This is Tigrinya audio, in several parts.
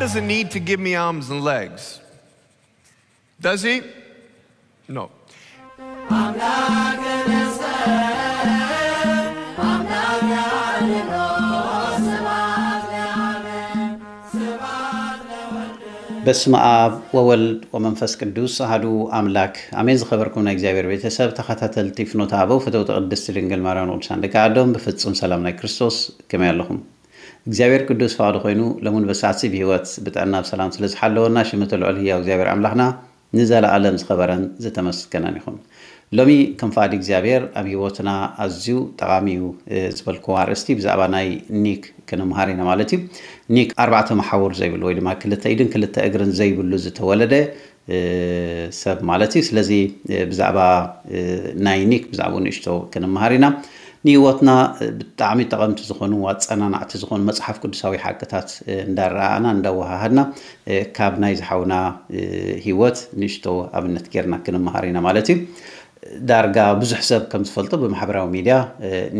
doesn't need to give me arms and legs. Does he? No. በስመ አብ ወወልድ ወመንፈስ ቅዱስ አሐዱ አምላክ አሜን። ዝኸበርኩም ናይ እግዚኣብሔር ቤተሰብ ተኸታተልቲ ፍኖተ አበው ፈተውቲ ቅድስቲ ድንግል ማርያም ቅዱሳን ደቂ ዓዶም ብፍጹም ሰላም ናይ ክርስቶስ ከመይ ኣለኹም? እግዚኣብሔር ቅዱስ ፈቃዱ ኮይኑ ለሙን በሳሲ ብህይወት ብጥዕና ብሰላም ስለ ዝሓለወና ሽምቲ ልዑል ህያው እግዚኣብሔር ኣምላኽና ንዘለኣለም ዝኸበረን ዝተመስገነን ይኹን። ሎሚ ከም ፍቃድ እግዚኣብሔር ኣብ ህይወትና ኣዝዩ ጠቓሚ እዩ ዝበልክዎ ኣርእስቲ ብዛዕባ ናይ ኒክ ክንምሃር ኢና ማለት እዩ። ኒክ ኣርባዕተ መሓውር ዘይብሉ ወይ ድማ ክልተ ኢድን ክልተ እግርን ዘይብሉ ዝተወለደ ሰብ ማለት እዩ። ስለዚ ብዛዕባ ናይ ኒክ ብዛዕባኡ ንእሽቶ ክንምሃር ኢና። ንህይወትና ብጣዕሚ ጠቐምቲ ዝኾኑ ኣፀናናዕቲ ዝኾኑ መፅሓፍ ቅዱሳዊ ሓቅታት እንዳረኣና እንዳወሃሃድና ካብ ናይ ዝሓውና ህይወት ንእሽቶ ኣብነት ጌርና ክንምሃር ኢና ማለት እዩ። ዳርጋ ብዙሕ ሰብ ከም ዝፈልጦ ብማሕበራዊ ሚድያ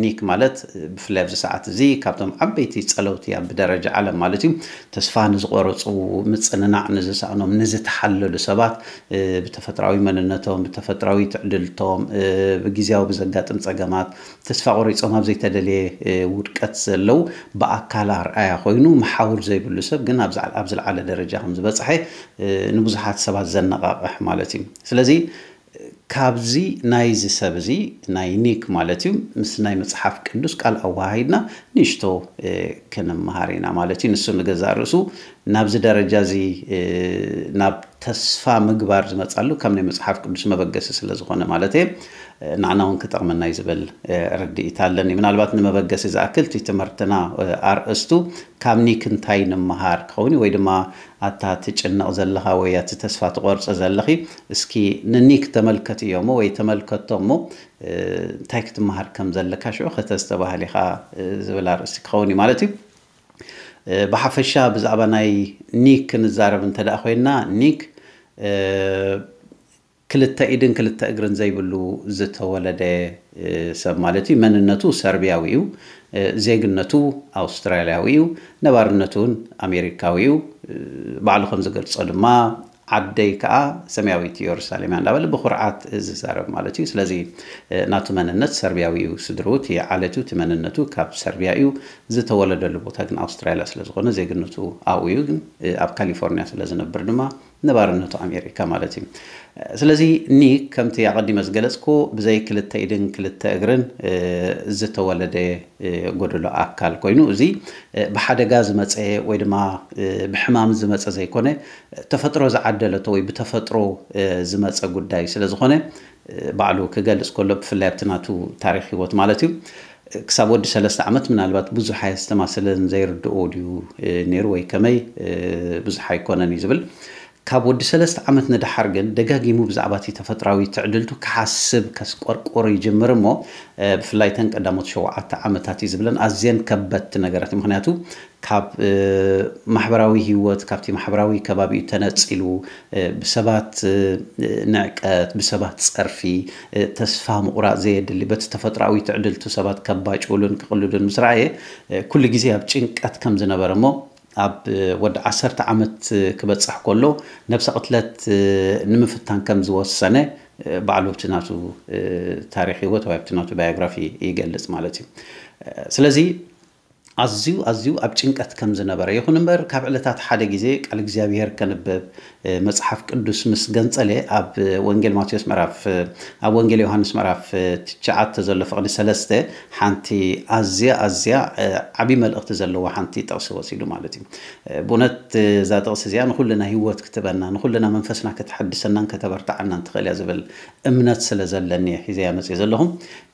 ኒክ ማለት ብፍላይ ኣብዚ ሰዓት እዚ ካብቶም ዓበይቲ ፀለውቲ ኣብ ደረጃ ዓለም ማለት እዩ ተስፋ ንዝቆረፁ ምፅንናዕ ንዝሰእኖም ንዝተሓለሉ ሰባት ብተፈጥራዊ መንነቶም ብተፈጥራዊ ትዕድልቶም ብግዜያዊ ብዘጋጥም ፀገማት ተስፋ ቆሪፆም ኣብ ዘይተደልየ ውድቀት ዘለዉ ብኣካል ኣርኣያ ኮይኑ መሓውር ዘይብሉ ሰብ ግን ኣብ ዝለዓለ ደረጃ ከም ዝበፅሐ ንብዙሓት ሰባት ዘነቓቕሕ ማለት እዩ። ስለዚ ካብዚ ናይዚ ሰብ እዚ ናይ ኒክ ማለት እዩ ምስ ናይ መፅሓፍ ቅዱስ ቃል ኣወሃሂድና ንእሽቶ ክንምሃር ኢና ማለት እዩ። ንሱ ንገዛእ ርእሱ ናብዚ ደረጃ እዚ ናብ ተስፋ ምግባር ዝመፃሉ ካብ ናይ መፅሓፍ ቅዱስ መበገሲ ስለ ዝኾነ ማለት እየ። ንዓና እውን ክጠቕመና እዩ ዝብል ርድኢት ኣለኒ። ምናልባት ንመበገሲ ዝኣክል እቲ ትምህርትና ኣርእስቱ ካብ ኒክ እንታይ ንምሃር ክኸውን ወይ ድማ ኣታ ትጭነቕ ዘለኻ ወይ ኣቲ ተስፋ ትቆርፂ ዘለኺ እስኪ ንኒክ ተመልከትዮ እሞ ወይ ተመልከቶ እሞ እንታይ ክትመሃር ከም ዘለካ ሽዑ ከተስተባህል ኢኻ ዝብል ኣርእስቲ ክኸውን እዩ ማለት እዩ። ብሓፈሻ ብዛዕባ ናይ ኒክ ክንዛረብ እንተ ደኣ ኮይንና ኒክ ክልተ ኢድን ክልተ እግርን ዘይብሉ ዝተወለደ ሰብ ማለት እዩ። መንነቱ ሰርቢያዊ እዩ። ዜግነቱ ኣውስትራልያዊ እዩ። ነባርነቱ እውን ኣሜሪካዊ እዩ። ባዕሉ ከም ዝገልጾ ድማ ዓደይ ከዓ ሰማያዊት ኢየሩሳሌም እያ እንዳበለ ብኩርዓት ዝዛረብ ማለት እዩ። ስለዚ ናቱ መንነት ሰርቢያዊ እዩ። ስድርኡ እቲ ዓለቱ እቲ መንነቱ ካብ ሰርቢያ እዩ። ዝተወለደሉ ቦታ ግን ኣውስትራልያ ስለ ዝኾነ ዜግነቱ ኣብኡ እዩ። ግን ኣብ ካሊፎርኒያ ስለ ዝነብር ድማ ነባርነቱ ኣሜሪካ ማለት እዩ። ስለዚ ኒክ ከምቲ ኣቐዲመ ዝገለፅኩ ብዘይ ክልተ ኢድን ክልተ እግርን ዝተወለደ ጎደሎ ኣካል ኮይኑ እዚ ብሓደጋ ዝመፀ ወይ ድማ ብሕማም ዝመፀ ዘይኮነ ተፈጥሮ ዝዓደለቶ ወይ ብተፈጥሮ ዝመፀ ጉዳይ ስለ ዝኾነ ባዕሉ ክገልፅ ከሎ ብፍላይ ኣብቲ ናቱ ታሪክ ህይወት ማለት እዩ ክሳብ ወዲ ሰለስተ ዓመት ምናልባት ብዙሕ ኣየስተማሰለን ዘይርድኦ ድዩ ነይሩ ወይ ከመይ ብዙሕ ኣይኮነን እዩ ዝብል። ካብ ወዲ ሰለስተ ዓመት ንደሓር ግን ደጋጊሙ ብዛዕባ እቲ ተፈጥራዊ ትዕድልቱ ክሓስብ ከስቆርቆር ይጅምር እሞ ብፍላይ ተን ቀዳሞት ሸውዓተ ዓመታት እዩ ዝብለን ኣዝየን ከበድቲ ነገራት እዩ። ምክንያቱ ካብ ማሕበራዊ ህይወት ካብቲ ማሕበራዊ ከባቢኡ ተነፂሉ ብሰባት ንዕቀት ብሰባት ፀርፊ ተስፋ ምቑራፅ ዘየድሊ በቲ ተፈጥራዊ ትዕድልቱ ሰባት ከባጭውሉን ክቕልዱን ምስ ረኣየ ኩሉ ግዜ ኣብ ጭንቀት ከም ዝነበረ እሞ ኣብ ወዲ ዓሰርተ ዓመት ክበፅሕ ከሎ ነብሰ ቅትለት ንምፍታን ከም ዝወሰነ ባዕሉ ኣብቲ ናቱ ታሪክ ህይወት ወይ ኣብቲ ናቱ ባዮግራፊ ይገልፅ ማለት እዩ። ስለዚ ኣዝዩ ኣዝዩ ኣብ ጭንቀት ከም ዝነበረ ይኹን እምበር ካብ ዕለታት ሓደ ግዜ ቃል እግዚኣብሔር ከንብብ መፅሓፍ ቅዱስ ምስ ገንፀለ ኣብ ወንጌል ማቴዎስ ምዕራፍ ኣብ ወንጌል ዮሃንስ ምዕራፍ ትሽዓተ ዘሎ ፍቕዲ ሰለስተ ሓንቲ ኣዝያ ኣዝያ ዓብዪ መልእኽቲ ዘለዋ ሓንቲ ጥቕሲ ወሲዱ ማለት እዩ። ብእውነት እዛ ጥቕሲ እዚኣ ንኩልና ህይወት ክትበና ንኩልና መንፈስና ከተሐድሰናን ከተበርትዓናን ትኽእል እያ ዝብል እምነት ስለ ዘለኒ እየ ሒዘያ መፅየ ዘለኹ።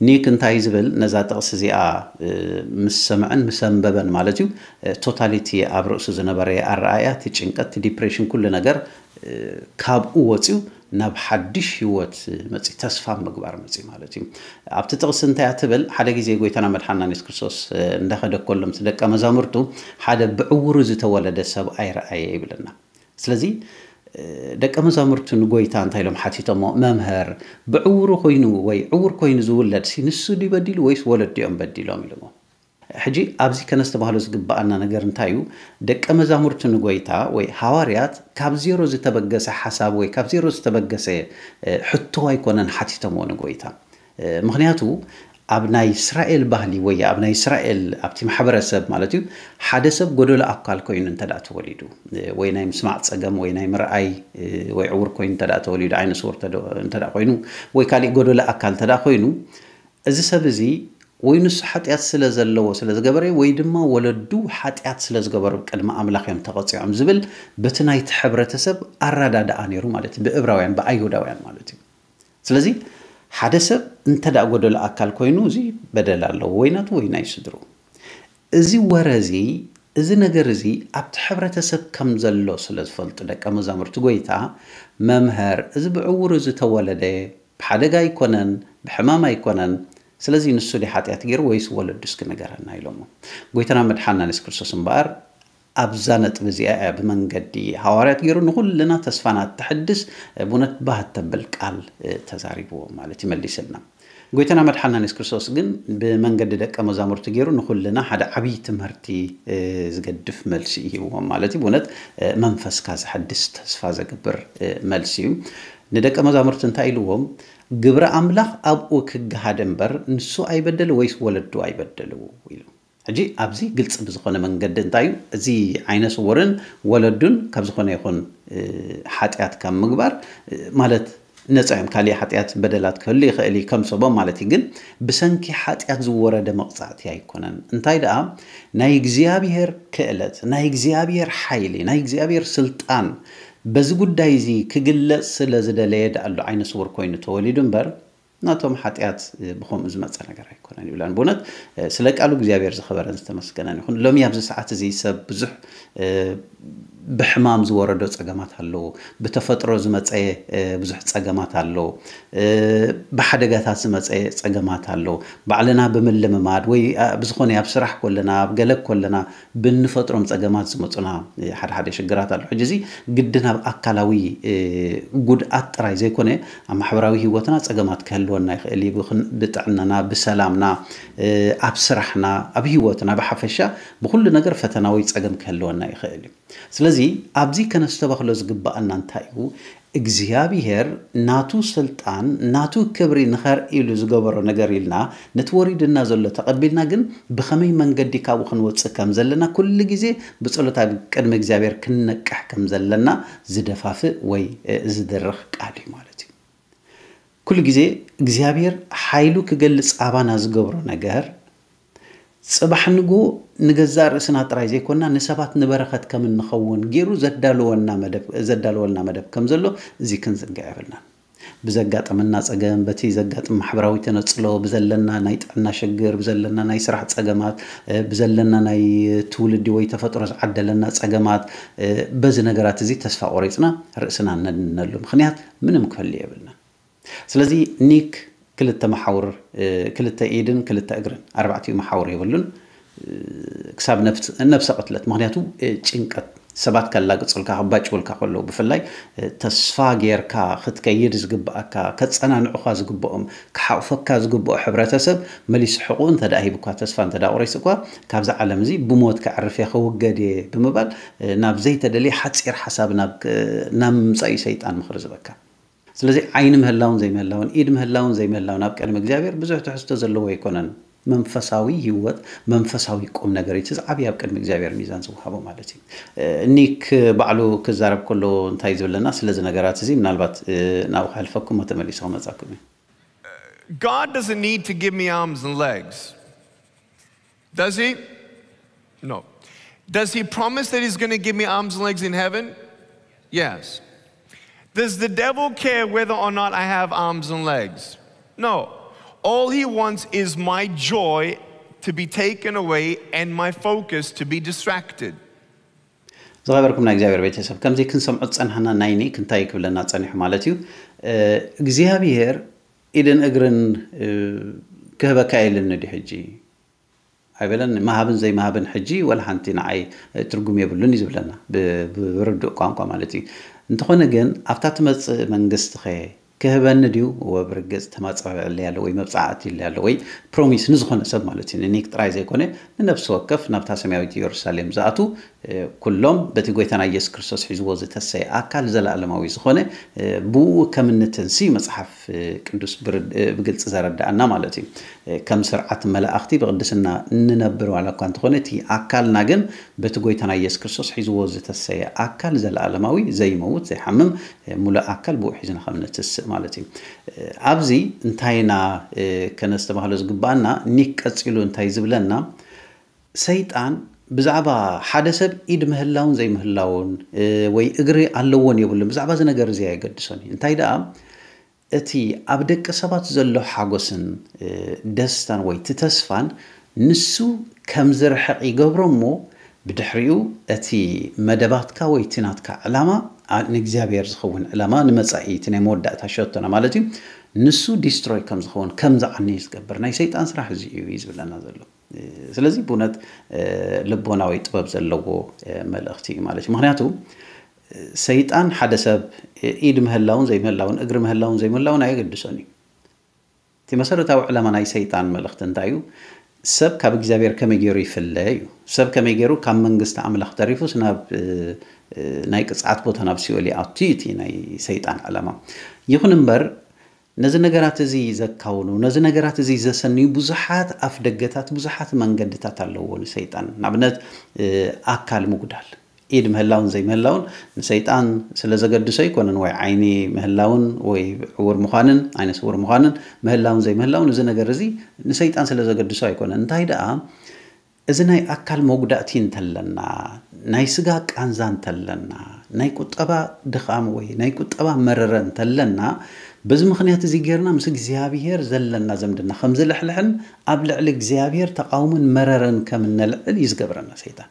ኒክ እንታይ ዝብል ነዛ ጥቕሲ እዚኣ ምስ ሰምዐን ምስ ኣንበበን ማለት እዩ ቶታሊቲ ኣብ ርእሱ ዝነበረ ኣረኣእያ እቲ ጭንቀት እቲ ዲፕሬሽን ኩሉ ነገር ካብኡ ወፅዩ ናብ ሓድሽ ህይወት መፂ ተስፋ ምግባር መፂ ማለት እዩ። ኣብቲ ጥቕሲ እንታይ እያ ትብል ሓደ ግዜ ጎይታና መድሓና የሱስ ክርስቶስ እንዳኸደ ከሎ ምስ ደቀ መዛሙርቱ ሓደ ብዕውሩ ዝተወለደ ሰብኣይ ረኣየ ይብለና። ስለዚ ደቀ መዛሙርቱ ንጎይታ እንታይ ኢሎም ሓቲቶሞ መምህር ብዕውሩ ኮይኑ ወይ ዕውር ኮይኑ ዝውለድ ሲ ንሱ ድዩ በዲሉ ወይስ ወለዲኦም በዲሎም ኢሎሞ። ሕጂ ኣብዚ ከነስተባህሎ ዝግብኣና ነገር እንታይ እዩ? ደቀ መዛሙርቲ ንጎይታ ወይ ሃዋርያት ካብ ዜሮ ዝተበገሰ ሓሳብ ወይ ካብ ዜሮ ዝተበገሰ ሕቶ ኣይኮነን ሓቲቶምዎ ንጎይታ። ምክንያቱ ኣብ ናይ እስራኤል ባህሊ ወይ ኣብ ናይ እስራኤል ኣብቲ ማሕበረሰብ ማለት እዩ፣ ሓደ ሰብ ጎደሎ ኣካል ኮይኑ እንተ ተወሊዱ ወይ ናይ ምስማዕ ፀገም ወይ ናይ ምርኣይ ወይ ዕውር ኮይኑ እንተ ተወሊዱ፣ ዓይነ ስውር እንተ ኮይኑ ወይ ካሊእ ጎደሎ ኣካል እንተ ኮይኑ፣ እዚ ሰብ እዚ ወይ ንሱ ሓጢኣት ስለ ዘለዎ ስለ ዝገበረ ወይ ድማ ወለዱ ሓጢኣት ስለ ዝገበሩ ቅድሚ ኣምላኽ እዮም ተቐፂዖም ዝብል በቲ ናይቲ ሕብረተሰብ ኣረዳድኣ ነይሩ ማለት እዩ፣ ብእብራውያን ብኣይሁዳውያን ማለት እዩ። ስለዚ ሓደ ሰብ እንተ ደኣ ጎደሎ ኣካል ኮይኑ እዚ በደል ኣለዎ ወይ ናቱ ወይ ናይ ስድሩ። እዚ ወረ እዚ እዚ ነገር እዚ ኣብቲ ሕብረተሰብ ከም ዘሎ ስለ ዝፈልጡ ደቀ መዛሙርቲ ጎይታ፣ መምህር፣ እዚ ብዕውሩ ዝተወለደ ብሓደጋ ኣይኮነን፣ ብሕማም ኣይኮነን፣ ስለዚ ንሱ ድዩ ሓጢኣት ገይሩ ወይስ ወለዱ እስኪ ንገረና ኢሎሞ። ጎይታና መድሓና የሱስ ክርስቶስ እምበኣር ኣብዛ ነጥቢ እዚኣ እያ ብመንገዲ ሃዋርያት ገይሩ ንኹልና ተስፋና እተሕድስ ብእውነት ባህ እተብል ቃል ተዛሪብዎ ማለት ይመሊስልና። ጎይታና መድሓና የሱስ ክርስቶስ ግን ብመንገዲ ደቀ መዛሙርቲ ገይሩ ንኹልና ሓደ ዓብዪ ትምህርቲ ዝገድፍ መልሲ ይህብዎም ማለት እዩ። ብእውነት መንፈስካ ዘሐድስ ተስፋ ዘግብር መልሲ እዩ። ንደቀ መዛሙርቲ እንታይ ኢልዎም? ግብረ ኣምላኽ ኣብኡ ክገሃድ እምበር ንሱ ኣይበደል ወይስ ወለዱ ኣይበደሉ ኢሉ። ሕጂ ኣብዚ ግልፂ ብዝኾነ መንገዲ እንታይ እዩ? እዚ ዓይነ ስውርን ወለዱን ካብ ዝኾነ ይኹን ሓጢኣት ካብ ምግባር ማለት ነፃ እዮም። ካሊእ ሓጢኣት በደላት ክህሉ ይኽእል እዩ ከም ሰቦም ማለት እዩ። ግን ብሰንኪ ሓጢኣት ዝወረደ መቕፃዕቲ ኣይኮነን። እንታይ ደኣ ናይ እግዚኣብሔር ክእለት፣ ናይ እግዚኣብሔር ሓይሊ፣ ናይ እግዚኣብሔር ስልጣን በዚ ጉዳይ እዚ ክግለፅ ስለ ዝደለየ ደኣሉ ዓይነ ስውር ኮይኑ ተወሊዱ እምበር ናቶም ሓጢኣት ብኸምኡ ዝመፀ ነገር ኣይኮነን ይብለን። ብእውነት ስለ ቃሉ እግዚኣብሔር ዝኸበረን ዝተመስገነን ይኹን። ሎሚ ኣብዚ ሰዓት እዚ ሰብ ብዙሕ ብሕማም ዝወረዶ ፀገማት ኣለዎ። ብተፈጥሮ ዝመፀ ብዙሕ ፀገማት ኣሎ። ብሓደጋታት ዝመፀ ፀገማት ኣሎ። ባዕልና ብምልምማድ ወይ ብዝኾነ ኣብ ስራሕ ኮለና ኣብ ገለ ኮለና ብንፈጥሮም ፀገማት ዝመፁና ሓደ ሓደ ሽግራት ኣሎ። ሕጂ እዚ ግድን ኣብ ኣካላዊ ጉድኣት ጥራይ ዘይኮነ ኣብ ማሕበራዊ ህይወትና ፀገማት ክህልወና ይኽእል እዩ። ብጥዕናና፣ ብሰላምና፣ ኣብ ስራሕና፣ ኣብ ህይወትና ብሓፈሻ ብኩሉ ነገር ፈተና ወይ ፀገም ክህልወና ይኽእል እዩ። ስለዚ ኣብዚ ከነስተባህሎ ዝግብኣና እንታይ እዩ? እግዚኣብሔር ናቱ ስልጣን ናቱ ክብሪ ንኸርኢ ኢሉ ዝገበሮ ነገር ኢልና ነቲ ወሪድና ዘሎ ተቐቢልና ግን ብኸመይ መንገዲ ካብኡ ክንወፅእ ከም ዘለና ኩሉ ግዜ ብጸሎት ኣብ ቅድሚ እግዚኣብሔር ክንነቅሕ ከም ዘለና ዝደፋፍእ ወይ ዝድርኽ ቃል እዩ ማለት እዩ። ኩሉ ግዜ እግዚኣብሔር ሓይሉ ክገልፅ ኣባና ዝገብሮ ነገር ፅባሕ ንግሆ ንገዛእ ርእስና ጥራይ ዘይኮንና ንሰባት ንበረኸት ከም እንኸውን ገይሩ ዘዳለወልና መደብ ዘዳለወልና መደብ ከም ዘሎ እዚ ክንዝንግዕ የብልናን። ብዘጋጥመና ፀገም፣ በቲ ዘጋጥም ማሕበራዊ ተነፅሎ፣ ብዘለና ናይ ጥዕና ሽግር፣ ብዘለና ናይ ስራሕ ፀገማት፣ ብዘለና ናይ ትውልዲ ወይ ተፈጥሮ ዝዓደለና ፀገማት፣ በዚ ነገራት እዚ ተስፋ ቆሪፅና ርእስና ነድንነሉ ምኽንያት ምንም ክህሉ የብልናን። ስለዚ ኒክ ክልተ መሓውር ክልተ ኢድን ክልተ እግርን ኣርባዕቲኡ መሓውር የብሉን። ክሳብ ነፍሰ ቅትለት ምክንያቱ ጭንቀት ሰባት ከላግፁልካ ክባጭውልካ ከለዉ ብፍላይ ተስፋ ጌርካ ክትከይድ ዝግብኣካ ከፀናንዑካ ዝግብኦም ክሓቑፈካ ዝግብኦ ሕብረተሰብ መሊሱ ሕቑ እንተ ሂቡካ ተስፋ እንተ ቆሪሱ እኳ ካብዚ ዓለም እዚ ብሞት ከዕርፍ እየ ክውገድ እየ ብምባል ናብ ዘይተደልየ ሓፂር ሓሳብ ናብ ምምፃእ እዩ ሰይጣን ምኽሪ ዝበካ። ስለዚ ዓይኒ ምህላውን ዘይምህላውን ኢድ ምህላውን ዘይምህላውን ኣብ ቅድሚ እግዚኣብሔር ብዙሕ ትሕዝቶ ዘለዎ ኣይኮነን። መንፈሳዊ ህይወት መንፈሳዊ ቁም ነገር እቲ ዝዓብይ ኣብ ቅድሚ እግዚኣብሔር ሚዛን ዝወሃቦ ማለት እዩ። ኒክ ባዕሉ ክዛረብ ከሎ እንታይ ዝብለና ስለዚ ነገራት እዚ ምናልባት ናብኡ ከሕልፈኩም ተመሊሱ ክመጻኩም እዩ። God doesn't need to give me arms and legs. Does he? No. Does he promise that he's going to give me arms and legs in heaven? Yes. Does the devil care whether or not I have arms and legs? No. All he wants is my joy to be taken away and my focus to be distracted. ዝኸበርኩም ናይ እግዚኣብሔር ቤተሰብ ከምዚ ክንሰምዖ ዝፀናሕና ናይ ኒክ እንታይ ክብለና ፀኒሑ ማለት እዩ እግዚኣብሔር ኢድን እግርን ክህበካ የለን ድዩ ሕጂ ኣይበለን። ምሃብን ዘይምሃብን ሕጂ ወላ ሓንቲ ንዓይ ትርጉም የብሉን እዩ ዝብለና ብርዱእ ቋንቋ ማለት እዩ። እንተኾነ ግን ኣብታ ትመፅእ መንግስቲ ኸ ክህበኒ ድዩ? ወብርግጽ ተማጻቢዕለይ ኣሎ ወይ መብጻዕቲ ኣሎ ወይ ፕሮሚስ ንዝኾነ ሰብ ማለት እዩ። ንኒክ ጥራይ ዘይኮነ ንነፍሲ ወከፍ ናብታ ሰማያዊት ኢየሩሳሌም ዝኣቱ ኩሎም በቲ ጎይታና ኢየሱስ ክርስቶስ ሒዝዎ ዝተሰየ ኣካል ዘለኣለማዊ ዝኾነ ብኡ ከም እንትንሲ መጽሓፍ ቅዱስ ብግልፂ ዘረዳእና ማለት እዩ። ከም ስርዓት መላእኽቲ ብቅድስና እንነብር ዋላ እኳ እንተኾነ እቲ ኣካልና ግን በቲ ጎይታና ኢየሱስ ክርስቶስ ሒዝዎ ዝተሰየ ኣካል ዘለኣለማዊ ዘይመውት ዘይሓምም ሙሉእ ኣካል ብኡ ሒዝና ከም ንትስእ ማለት እዩ። ኣብዚ እንታይና ከነስተባህሎ ዝግባኣና ኒክ ቀፂሉ እንታይ ዝብለና ሰይጣን ብዛዕባ ሓደ ሰብ ኢድ ምህላውን ዘይምህላውን ወይ እግሪ ኣለዎን የብሉን ብዛዕባ እዚ ነገር እዚ ኣየገድሶን እዩ። እንታይ ደኣ እቲ ኣብ ደቂ ሰባት ዘሎ ሓጎስን ደስታን ወይ እቲ ተስፋን ንሱ ከም ዝርሕቕ ይገብሮ እሞ ብድሕሪኡ እቲ መደባትካ ወይ እቲ ናትካ ዕላማ ንእግዚኣብሔር ዝኸውን ዕላማ ንመጻኢ እቲ ናይ መወዳእታ ሸቶና ማለት እዩ ንሱ ዲስትሮይ ከም ዝኸውን ከም ዝዓኒ ዝገብር ናይ ሰይጣን ስራሕ እዚ እዩ ዝብለና ዘሎ። ስለዚ ብእውነት ልቦናዊ ጥበብ ዘለዎ መልእኽቲ እዩ ማለት እዩ። ምክንያቱ ሰይጣን ሓደ ሰብ ኢድ ምህላውን ዘይምህላውን እግሪ ምህላውን ዘይምህላውን ኣየገድሶን እዩ። እቲ መሰረታዊ ዕላማ ናይ ሰይጣን መልእኽቲ እንታይ እዩ? ሰብ ካብ እግዚኣብሔር ከመይ ገይሩ ይፍለ እዩ። ሰብ ከመይ ገይሩ ካብ መንግስቲ ኣምላኽ ተሪፉስ ናብ ናይ ቅፅዓት ቦታ ናብ ሲኦል ይኣቱ እዩ እቲ ናይ ሰይጣን ዕላማ። ይኹን እምበር ነዚ ነገራት እዚ ዘካውኑ ነዚ ነገራት እዚ ዘሰንዩ ብዙሓት ኣፍ ደገታት ብዙሓት መንገድታት ኣለዎ ንሰይጣን። ንኣብነት ኣካል ምጉዳል ኢድ ምህላውን ዘይምህላውን ንሰይጣን ስለ ዘገድሶ ኣይኮነን ወይ ዓይኒ ምህላውን ወይ ዕውር ምዃንን ዓይነ ስውር ምዃንን ምህላውን ዘይምህላውን እዚ ነገር እዚ ንሰይጣን ስለ ዘገድሶ ኣይኮነን። እንታይ ደኣ እዚ ናይ ኣካል መጉዳእቲ እንተለና ናይ ስጋ ቃንዛ እንተለና ናይ ቁጠባ ድኻም ወይ ናይ ቁጠባ መረረ እንተለና በዚ ምኽንያት እዚ ጌርና ምስ እግዚኣብሔር ዘለና ዘምድና ከም ዝልሕልሕን ኣብ ልዕሊ እግዚኣብሔር ተቃውሞን መረረን ከም እነልዕል እዩ ዝገብረና ሰይጣን።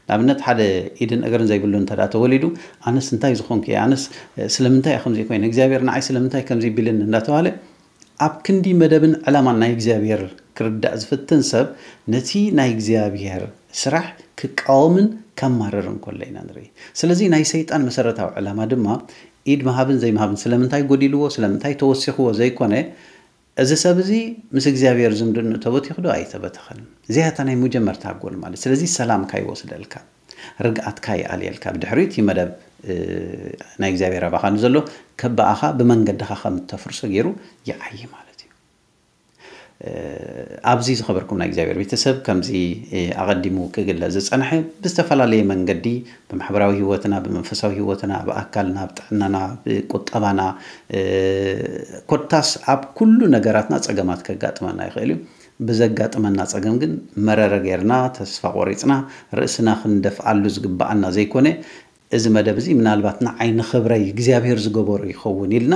ንኣብነት ሓደ ኢድን እግርን ዘይብሉ እንተ ተወሊዱ ኣነስ እንታይ ዝኾንኩ እየ ኣነስ ስለምንታይ እየ ከምዚ ኮይነ እግዚኣብሔር ንዓይ ስለምንታይ ከምዚ ቢልን እንዳተባለ ኣብ ክንዲ መደብን ዕላማን ናይ እግዚኣብሔር ክርዳእ ዝፍትን ሰብ ነቲ ናይ እግዚኣብሔር ስራሕ ክቃወምን ከማርርን ከሎ ኢና ንርኢ። ስለዚ ናይ ሰይጣን መሰረታዊ ዕላማ ድማ ኢድ ምሃብን ዘይምሃብን ስለምንታይ ጎዲልዎ ስለምንታይ ተወሲኽዎ ዘይኮነ እዚ ሰብ እዚ ምስ እግዚኣብሔር ዝምድንኡ ተበቲኽ ዶ ኣይተበተኸን? እዚኣ እታ ናይ መጀመርታ ጎል ማለት። ስለዚ ሰላምካ ይወስደልካ፣ ርግኣትካ ይኣልየልካ። ብድሕሪኡ እቲ መደብ ናይ እግዚኣብሔር ኣባኻ ንዘሎ ከበኣኻ ብመንገድኻ ከም እተፍርሶ ገይሩ ይዓዪ ማለት እዩ። ኣብዚ ዝኸበርኩም ናይ እግዚኣብሔር ቤተሰብ ከምዚ ኣቐዲሙ ክግለጽ ዝጸንሐ ብዝተፈላለየ መንገዲ ብማሕበራዊ ህይወትና ብመንፈሳዊ ህይወትና ብኣካልና ብጥዕናና ብቁጠባና ኮታስ ኣብ ኩሉ ነገራትና ጸገማት ከጋጥመና ይኽእል እዩ። ብዘጋጥመና ጸገም ግን መረረ ጌርና ተስፋ ቆሪጽና ርእስና ክንደፍኣሉ ዝግብኣና ዘይኮነ እዚ መደብ እዚ ምናልባት ንዓይ ንኽብረይ እግዚኣብሔር ዝገበሮ ይኸውን ኢልና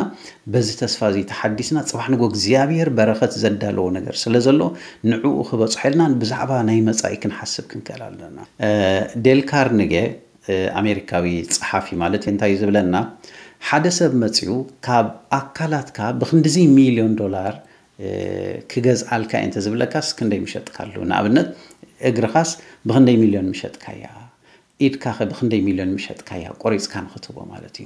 በዚ ተስፋ እዚ ተሓዲስና ጽባሕ ንጎ እግዚኣብሔር በረኸት ዘዳለዎ ነገር ስለ ዘሎ ንዕኡ ክበጽሖ ኢልና ብዛዕባ ናይ መጻኢ ክንሓስብ ክንክእል ኣለና። ዴል ካርንጌ ኣሜሪካዊ ጸሓፊ ማለት እንታይ እዩ ዝብለና ሓደ ሰብ መጺኡ ካብ ኣካላትካ ብክንድዚ ሚልዮን ዶላር ክገዝኣልካ እየ እንተዝብለካስ ክንደይ ምሸጥካሉ? ንኣብነት እግርኻስ ብክንደይ ሚልዮን ምሸጥካያ? ኢድካ ከ ብክንደይ ሚልዮን ምሸጥካያ ቆሪፅካ ንክትቦ ማለት እዩ።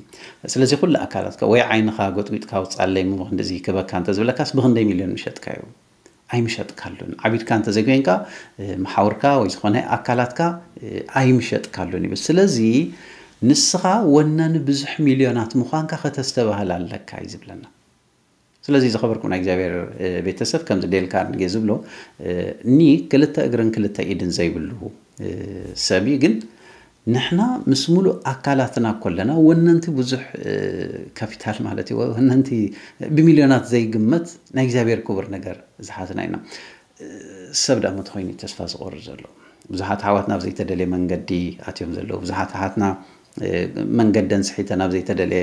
ስለዚ ኩሉ ኣካላትካ ወይ ዓይንኻ ጎጥጒጥካ ውፃለይ እሞ ብክንድዚ ክበካ እንተዝብለካስ ብክንደይ ሚልዮን ምሸጥካዮ? ኣይምሸጥካሉን። ዓቢድካ እንተዘይኮይንካ መሓውርካ ወይ ዝኾነ ኣካላትካ ኣይምሸጥካሉን ይብል። ስለዚ ንስኻ ወናኒ ብዙሕ ሚልዮናት ምዃንካ ከተስተባህል ኣለካ እዩ ዝብለና። ስለዚ ዝኸበርኩም ናይ እግዚኣብሔር ቤተሰብ ከምዚ ዴል ካርንጌ ዝብሎ ኒ ክልተ እግርን ክልተ ኢድን ዘይብሉ ሰብ እዩ። ግን ንሕና ምስ ሙሉእ ኣካላትና ኮለና ወነንቲ ብዙሕ ካፒታል ማለት እዩ ወነንቲ ብሚልዮናት ዘይግመት ናይ እግዚኣብሔር ክቡር ነገር ዝሓዝና ኢና። ሰብ ደኣ መተኮይኑ ተስፋ ዝቆርር ዘሎ ብዙሓት ኣሕዋትና ኣብ ዘይተደልየ መንገዲ ኣትዮም ዘለዉ ብዙሓት ኣሓትና መንገደን ስሒተን ኣብ ዘይተደልየ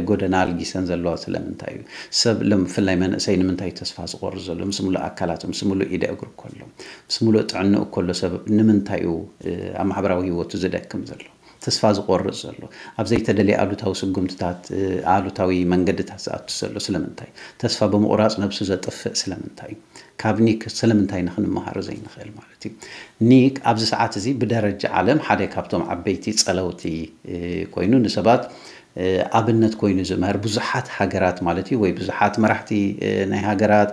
ጎደና ኣልጊሰን ዘለዋ ስለምንታይ እዩ? ሰብ ብፍላይ መንእሰይ ንምንታይ ተስፋ ዝቆርር ዘሎ ምስ ሙሉእ ኣካላቱ ምስ ሙሉእ ኢደ እግሩ ከሎ ምስ ሙሉእ ጥዕንኡ ከሎ ሰብ ንምንታይ እዩ ኣብ ማሕበራዊ ህይወቱ ዝደክም ዘሎ? ተስፋ ዝቆርጽ ዘሎ ኣብ ዘይተደልየ ኣሉታዊ ስጉምትታት ኣሉታዊ መንገድታት ዝኣቱ ዘሎ ስለምንታይ? ተስፋ ብምቑራጽ ነብሱ ዘጥፍእ ስለምንታይ? ካብ ኒክ ስለምንታይ ንክንመሃር ዘይንኽእል ማለት እዩ። ኒክ ኣብዚ ሰዓት እዚ ብደረጃ ዓለም ሓደ ካብቶም ዓበይቲ ጸለውቲ ኮይኑ ንሰባት ኣብነት ኮይኑ ዝምህር ብዙሓት ሃገራት ማለት እዩ፣ ወይ ብዙሓት መራሕቲ ናይ ሃገራት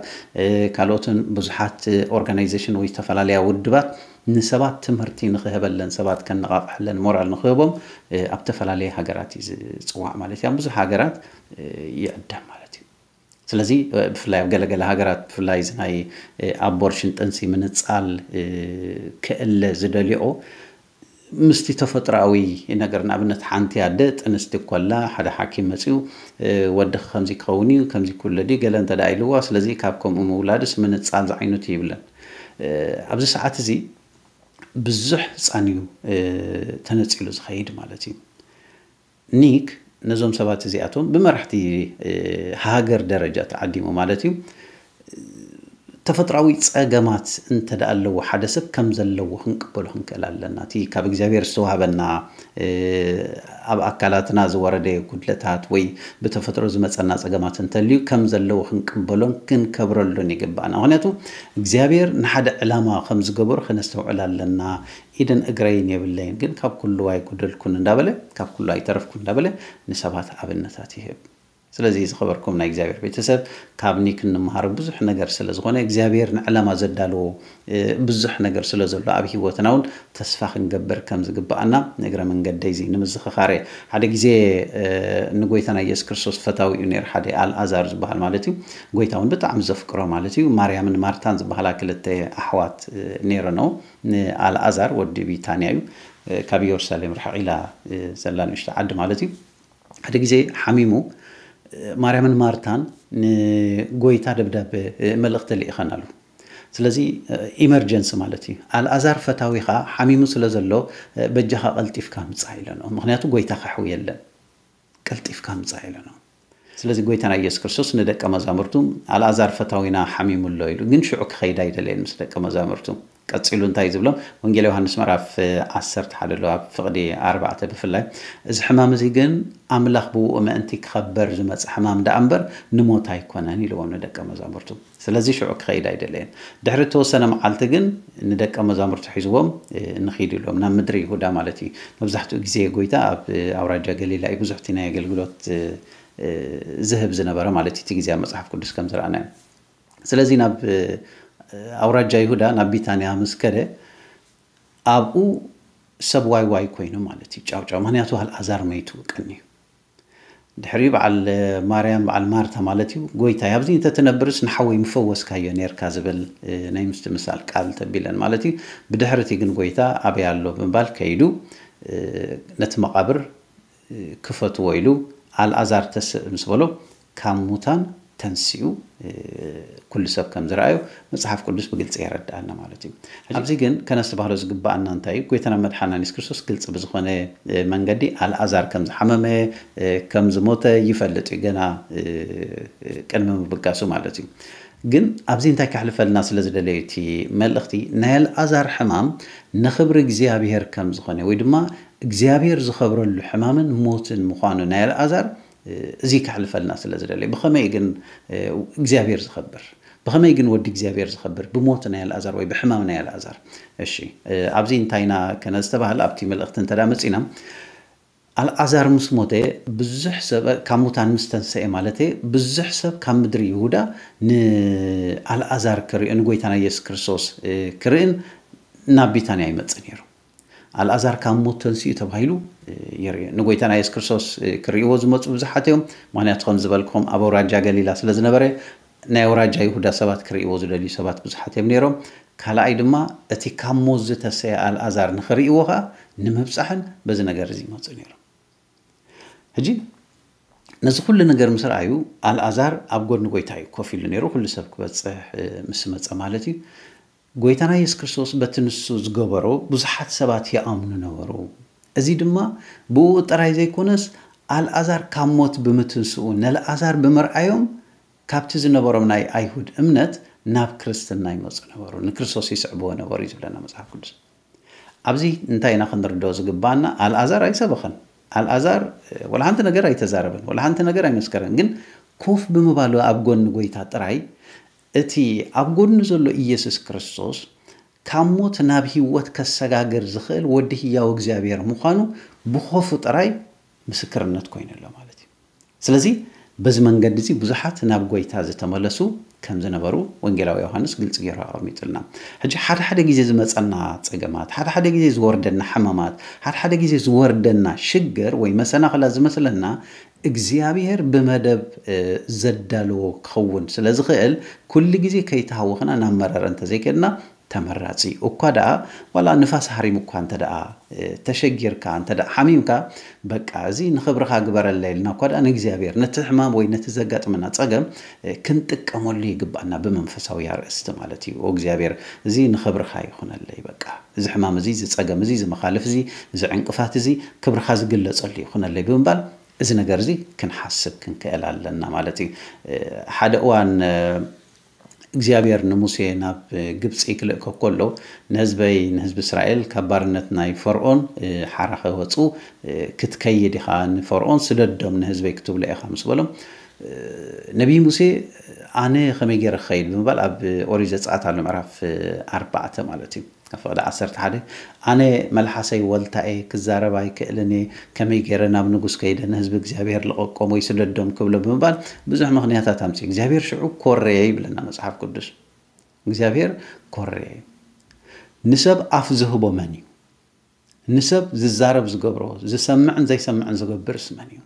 ካልኦትን ብዙሓት ኦርጋናይዜሽን ወይ ዝተፈላለያ ውድባት ንሰባት ትምህርቲ ንክህበለን፣ ሰባት ከነቓቕሐለን፣ ሞራል ንክህቦም ኣብ ዝተፈላለየ ሃገራት እዩ ዝፅዋዕ ማለት እዩ። ኣብ ብዙሕ ሃገራት ይዕደም ማለት እዩ። ስለዚ ብፍላይ ኣብ ገለገለ ሃገራት ብፍላይ እዚ ናይ ኣቦርሽን ጥንሲ ምንፃል ክእለ ዝደልዮ ምስቲ ተፈጥሮኣዊ ነገር፣ ንኣብነት ሓንቲ ኣደ ጥንስቲ ኮላ ሓደ ሓኪም መፂኡ ወድኺ ከምዚ ክኸውን እዩ፣ ከምዚ ክውለድ እዩ ገለ እንተ ደኣ ኢልዋ፣ ስለዚ ካብ ከምኡ ምውላድስ ምንፃል ዝዓይነቱ ይብለን። ኣብዚ ሰዓት እዚ ብዙሕ ህፃን እዩ ተነፂሉ ዝኸይድ ማለት እዩ። ኒክ ነዞም ሰባት እዚኣቶም ብመራሕቲ ሃገር ደረጃ ተዓዲሙ ማለት እዩ ተፈጥራዊ ፀገማት እንተ ደኣ ኣለዎ ሓደ ሰብ ከም ዘለዎ ክንቅበሎ ክንክእል ኣለና። እቲ ካብ እግዚኣብሔር ዝተዋህበና ኣብ ኣካላትና ዝወረደ ጉድለታት ወይ ብተፈጥሮ ዝመፀና ፀገማት እንተልዩ ከም ዘለዎ ክንቅበሎን ክንከብረሉን ይግባእና። ምክንያቱ እግዚኣብሔር ንሓደ ዕላማ ከም ዝገበሩ ከነስተውዕል ኣለና። ኢድን እግረይን የብለይን ግን ካብ ኩሉ ኣይጎደልኩን እንዳበለ ካብ ኩሉ ኣይተረፍኩን እንዳበለ ንሰባት ኣብነታት ይህብ። ስለዚ ዝኸበርኩም ናይ እግዚኣብሔር ቤተሰብ ካብ ኒክ እንምሃሮ ብዙሕ ነገር ስለ ዝኾነ እግዚኣብሔር ንዕላማ ዘዳለዎ ብዙሕ ነገር ስለ ዘሎ ኣብ ህይወትና እውን ተስፋ ክንገብር ከም ዝግባኣና ንእግረ መንገደይ እዚ ንምዝኽኻር እየ። ሓደ ግዜ ንጎይታና ኢየሱስ ክርስቶስ ፈታዊ እዩ ነይሩ ሓደ ኣልኣዛር ዝበሃል ማለት እዩ። ጎይታ እውን ብጣዕሚ ዘፍቅሮ ማለት እዩ። ማርያምን ማርታን ዝበሃላ ክልተ ኣሕዋት ነይረነው። ንኣልኣዛር ወዲ ቢታንያ እዩ። ካብ ኢየሩሳሌም ርሕቕ ኢላ ዘላ ንእሽቶ ዓዲ ማለት እዩ። ሓደ ግዜ ሓሚሙ ማርያምን ማርታን ንጎይታ ደብዳበ መልእኽቲ ልኢኸናሉ። ስለዚ ኢመርጀንሲ ማለት እዩ። ኣልኣዛር ፈታዊኻ ሓሚሙ ስለ ዘሎ በጃኻ ቀልጢፍካ ምጻእ ኢለንኦ። ምክንያቱ ጎይታ ከሕውየለን ቀልጢፍካ ምጻእ ኢለንኦ። ስለዚ ጎይታና ኢየሱስ ክርስቶስ ንደቀ መዛሙርቱ ኣልኣዛር ፈታዊና ሓሚሙ ኣሎ ኢሉ፣ ግን ሽዑ ክኸይድ ኣይደለየን ምስ ደቀ መዛሙርቱ። ቀጺሉ እንታይ ዝብሎም? ወንጌል ዮሃንስ ምዕራፍ ዓሰርተ ሓደ ኣሎ ኣብ ፍቕዲ ኣርባዕተ ብፍላይ፣ እዚ ሕማም እዚ ግን ኣምላኽ ብውኡ ምእንቲ ክኸበር ዝመጸ ሕማም ደኣ እምበር ንሞት ኣይኮነን ኢልዎም ንደቀ መዛሙርቱ። ስለዚ ሽዑ ክኸይድ ኣይደለየን። ድሕሪ እተወሰነ መዓልቲ ግን ንደቀ መዛሙርቱ ሒዝዎም ንኺድ ኢልዎም ናብ ምድሪ ይሁዳ ማለት እዩ። መብዛሕትኡ ግዜ ጎይታ ኣብ ኣውራጃ ገሊላ እዩ ብዙሕ እቲ ናይ ኣገልግሎት ዝህብ ዝነበረ ማለት እቲ ግዜ ኣብ መጽሓፍ ቅዱስ ከም ዝረኣናዮ። ስለዚ ናብ ኣውራጃ ይሁዳ ናብ ቢታንያ ምስ ከደ ኣብኡ ሰብ ዋይ ዋይ ኮይኑ ማለት እዩ። ጫው ጫው ምክንያቱ ኣልኣዛር መይቱ ቀንዩ። ድሕሪኡ በዓል ማርያም በዓል ማርታ ማለት እዩ ጎይታይ ኣብዚ እንተትነብርስ ንሓወይ ምፈወስካዮ ነርካ ዝብል ናይ ምስትምሳል ቃል ተቢለን ማለት እዩ። ብድሕሪ እቲ ግን ጎይታ ኣበይ ኣሎ ብምባል ከይዱ ነቲ መቓብር ክፈትዎ ኢሉ ኣልኣዛር ተስእ ምስ በሎ ካብ ሙታን ተንሲኡ ኩሉ ሰብ ከም ዝረኣዮ መፅሓፍ ቅዱስ ብግልፂ የረድኣና ማለት እዩ። ኣብዚ ግን ከነስተባህሎ ዝግባኣና እንታይ እዩ? ጎይታና መድሓና የሱስ ክርስቶስ ግልፂ ብዝኾነ መንገዲ ኣልኣዛር ከም ዝሓመመ ከም ዝሞተ ይፈልጥ እዩ ገና ቅድሚ ምብጋሱ ማለት እዩ። ግን ኣብዚ እንታይ ከሕልፈልና ስለ ዝደለዩ እቲ መልእኽቲ ናይ ኣልኣዛር ሕማም ንኽብሪ እግዚኣብሔር ከም ዝኾነ ወይ ድማ እግዚኣብሔር ዝኸብረሉ ሕማምን ሞትን ምዃኑ ናይ ኣልኣዛር እዚ ከሕልፈልና ስለ ዝደለዩ ብኸመይ ግን እግዚኣብሔር ዝኸብር ብኸመይ ግን ወዲ እግዚኣብሔር ዝኸብር ብሞት ናይ ኣልኣዛር ወይ ብሕማም ናይ ኣልኣዛር? እሺ ኣብዚ እንታይና ከነ ዝተባህለ ኣብቲ መልእኽቲ እንተዳ መፂና ኣልኣዛር ምስ ሞተ ብዙሕ ሰብ ካብ ሙታን ምስ ተንሰኤ ማለት ብዙሕ ሰብ ካብ ምድሪ ይሁዳ ንኣልኣዛር ክርኢ ንጎይታና የሱስ ክርስቶስ ክርእን ናብ ቢታንያ ይመፅእ ነይሩ። ኣልኣዛር ካብ ሞት ተንሲኡ ተባሂሉ ይርኢ ንጎይታና የሱስ ክርስቶስ ክርእይዎ ዝመፁ ብዙሓት እዮም። ምክንያቱ ከም ዝበልክኹም ኣብ ኣውራጃ ገሊላ ስለ ዝነበረ ናይ ኣውራጃ ይሁዳ ሰባት ክርእይዎ ዝደልዩ ሰባት ብዙሓት እዮም ነይሮም። ካልኣይ ድማ እቲ ካብ ሞት ዝተሰየ ኣልኣዛር ንኽርእይዎ ከዓ ንምብፃሕን በዚ ነገር እዚ ይመፁ ነይሮም። ሕጂ ነዚ ኩሉ ነገር ምስ ረኣዩ ኣልኣዛር ኣብ ጎኒ ጎይታ እዩ ኮፍ ኢሉ ነይሩ። ኩሉ ሰብ ክበፅሕ ምስ መፀ ማለት እዩ። ጎይታና የሱስ ክርስቶስ በቲ ንሱ ዝገበሮ ብዙሓት ሰባት ይኣምኑ ነበሩ። እዚ ድማ ብኡ ጥራይ ዘይኮነስ ኣልኣዛር ካብ ሞት ብምትንስኡ ነልኣዛር ብምርኣዮም ካብቲ ዝነበሮም ናይ ኣይሁድ እምነት ናብ ክርስትና ይመፁ ነበሩ፣ ንክርስቶስ ይስዕብዎ ነበሩ እዩ ዝብለና መፅሓፍ ቅዱስ። ኣብዚ እንታይ ኢና ክንርድኦ ዝግባኣና? ኣልኣዛር ኣይሰበኸን። ኣልኣዛር ወላ ሓንቲ ነገር ኣይተዛረበን፣ ወላ ሓንቲ ነገር ኣይመስከረን። ግን ኮፍ ብምባሉ ኣብ ጎኒ ጎይታ ጥራይ እቲ ኣብ ጎድኑ ዘሎ ኢየሱስ ክርስቶስ ካብ ሞት ናብ ህይወት ከሰጋግር ዝኽእል ወዲ ህያው እግዚኣብሔር ምዃኑ ብኾፉ ጥራይ ምስክርነት ኮይኑ ኣሎ ማለት እዩ። ስለዚ በዚ መንገዲ እዚ ብዙሓት ናብ ጎይታ ዝተመለሱ ከም ዝነበሩ ወንጌላዊ ዮሃንስ ግልፂ ገይሩ ኣቐሚጡልና። ሕጂ ሓደ ሓደ ግዜ ዝመፀና ፀገማት፣ ሓደ ሓደ ግዜ ዝወርደና ሕማማት፣ ሓደ ሓደ ግዜ ዝወርደና ሽግር ወይ መሰናኽላት ዝመስለና እግዚኣብሔር ብመደብ ዘዳለዎ ክኸውን ስለ ዝኽእል ኩሉ ግዜ ከይተሃወኽና ናብ መረረ እንተዘይከድና ተመራፂ እዩ። እኳ ደኣ ዋላ ንፋስ ሃሪሙ እኳ እንተ ደኣ ተሸጊርካ እንተ ደኣ ሓሚምካ በቃ እዚ ንኽብርኻ ግበረለይ ኢልና እኳ ደኣ ንእግዚኣብሔር ነቲ ሕማም ወይ ነቲ ዘጋጥመና ፀገም ክንጥቀመሉ ይግባኣና ብመንፈሳዊ ኣርእስቲ ማለት እዩ። እግዚኣብሔር እዚ ንኽብርኻ ይኹነለይ በቃ እዚ ሕማም እዚ እዚ ፀገም እዚ እዚ መኻልፍ እዚ እዚ ዕንቅፋት እዚ ክብርኻ ዝግለፀሉ ይኹነለይ ብምባል እዚ ነገር እዚ ክንሓስብ ክንክእል ኣለና ማለት እዩ። ሓደ እዋን እግዚኣብሔር ንሙሴ ናብ ግብፂ ክልእኮ ከሎ ንህዝበይ ንህዝቢ እስራኤል ካብ ባርነት ናይ ፈርኦን ሓራ ከወፁ ክትከይድ ኢኻ ንፈርኦን ስደዶም ንህዝበይ ክትብሎ ኢኻ ምስ በሎም ነቢይ ሙሴ ኣነ ከመይ ገይረ ክኸይድ ብምባል ኣብ ኦሪት ዘፀኣት ኣሎ ምዕራፍ ኣርባዕተ ማለት እዩ ፈቕዲ ዓሰርተ ሓደ ኣነ መልሓሰይ ወልታኤ ክዛረብ ኣይክእልን እየ ከመይ ገይረ ናብ ንጉስ ከይደ ንህዝቢ እግዚኣብሔር ልቐቆም ወይ ስደዶም ክብሎ ብምባል ብዙሕ ምኽንያታት ኣምፅኡ እግዚኣብሔር ሽዑ ኮረየ ይብለና መፅሓፍ ቅዱስ እግዚኣብሔር ኮረየ ንሰብ ኣፍ ዝህቦ መን እዩ ንሰብ ዝዛረብ ዝገብሮ ዝሰምዕን ዘይሰምዕን ዝገብርስ መን እዩ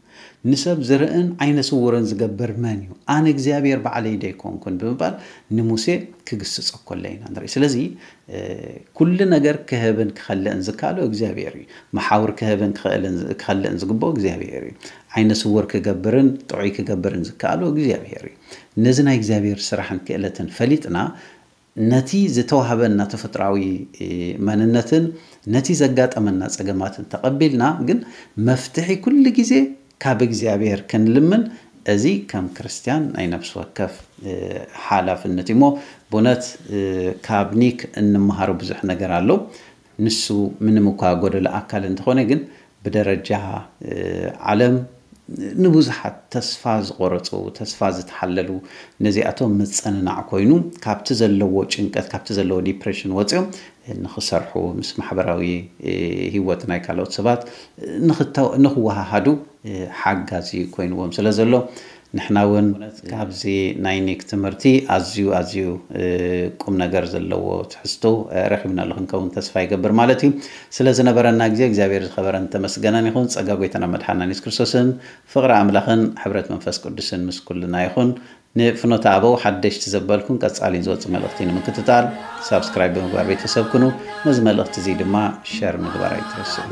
ንሰብ ዝርእን ዓይነ ስውርን ዝገብር መን እዩ ኣነ እግዚኣብሔር ባዕለይ ደይኮንኩን ብምባል ንሙሴ ክግስፀ ኮለ ኢና ንርኢ ስለዚ ኩሉ ነገር ክህብን ክኸልእን ዝከኣሎ እግዚኣብሔር እዩ መሓውር ክህብን ክኸልእን ዝግብኦ እግዚኣብሔር እዩ ዓይነ ስውር ክገብርን ጥዑይ ክገብርን ዝከኣሎ እግዚኣብሔር እዩ ነዚ ናይ እግዚኣብሔር ስራሕን ክእለትን ፈሊጥና ነቲ ዝተዋህበና ተፈጥራዊ መንነትን ነቲ ዘጋጠመና ፀገማትን ተቐቢልና ግን መፍትሒ ኩሉ ግዜ ካብ እግዚኣብሔር ክንልምን እዚ ከም ክርስትያን ናይ ነፍሲ ወከፍ ሓላፍነት እሞ ብእውነት ካብ ኒክ እንመሃሮ ብዙሕ ነገር ኣሎ ንሱ ምንም እኳ ጎደሎ ኣካል እንተኾነ ግን ብደረጃ ዓለም ንብዙሓት ተስፋ ዝቆረፁ ተስፋ ዝተሓለሉ ነዚኣቶም ምፅንናዕ ኮይኑ ካብቲ ዘለዎ ጭንቀት ካብቲ ዘለዎ ዲፕሬሽን ወፂኦም ንኽሰርሑ ምስ ማሕበራዊ ህይወት ናይ ካልኦት ሰባት ንኽወሃሃዱ ሓጋዚ ኮይንዎም ስለ ዘሎ ንሕና እውን ካብዚ ናይ ኒክ ትምህርቲ ኣዝዩ ኣዝዩ ቁም ነገር ዘለዎ ትሕዝቶ ረኺብናሉ ክንከውን ተስፋ ይገብር ማለት እዩ ስለ ዝነበረና ግዜ እግዚኣብሔር ዝኸበረን ተመስገነን ይኹን ጸጋ ጎይታና መድሓና የሱስ ክርስቶስን ፍቕሪ ኣምላኽን ሕብረት መንፈስ ቅዱስን ምስ ኩልና ይኹን ንፍኖተ ኣበው ሓደሽቲ ዘበልኩም ቀጻሊ ዝወጽእ መልእኽቲ ንምክትታል ሳብስክራይብ ብምግባር ቤተሰብ ኩኑ ነዚ መልእኽቲ እዚ ድማ ሸር ምግባር ኣይትረስዑ